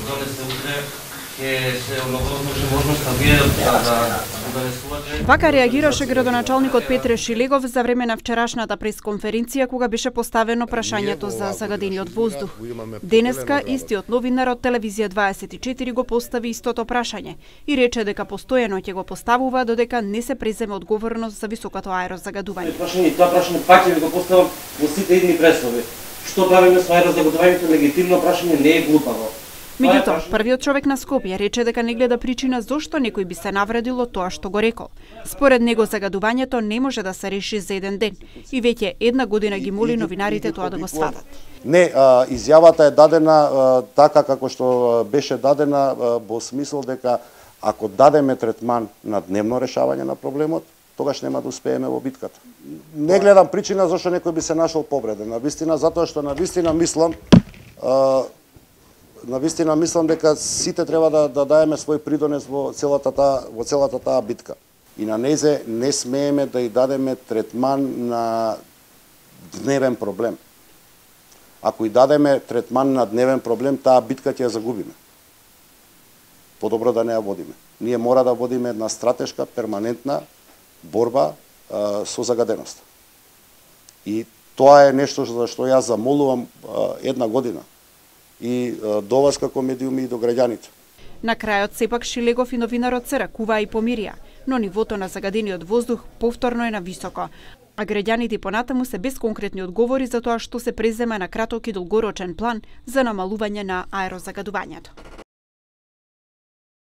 донесе утре, ќе се оновозможи можноста вие да донесувате. Вака реагираше градоначалникот Петре Шилегов за време на вчерашната пресконференција кога беше поставено прашањето за загадениот воздух. Денеска истиот новинар од телевизија 24 го постави истото прашање и рече дека постојано ќе го поставува додека не се преземе одговорност за високото аерозагадување. Тоа прашање пак ќе ви го поставам во сите идни пресови. Што правиме со аерозагадувањето? Легитимно прашање, не е глупаво. Меѓутоа, првиот човек на Скопје рече дека не гледа причина зошто некој би се навредил од тоа што го рекол. Според него загадувањето не може да се реши за еден ден и веќе една година ги моли новинарите тоа да го сватат. Не, изјавата е дадена така како што беше дадена во смисол дека ако дадеме третман на дневно решавање на проблемот, тогаш нема да успееме во битката. Не гледам причина зашто некој би се нашол повреден. Навистина затоа што навистина мислам дека сите треба да даеме свој придонес во целата таа битка. И на незе не смееме да ја дадеме третман на дневен проблем. Ако ја дадеме третман на дневен проблем, таа битка ќе ја загубиме. Подобро да не ја водиме. Ние мора да водиме една стратешка, перманентна борба со загаденоста. И тоа е нешто за што јас замолувам една година и до вас како медиуми и до граѓаните. На крајот сепак Шилегов и новинарот се ракуваа и помирија, но нивото на загадениот воздух повторно е на високо, а граѓаните понатаму се без конкретни одговори за тоа што се презема на краток и долгорочен план за намалување на аерозагадувањето.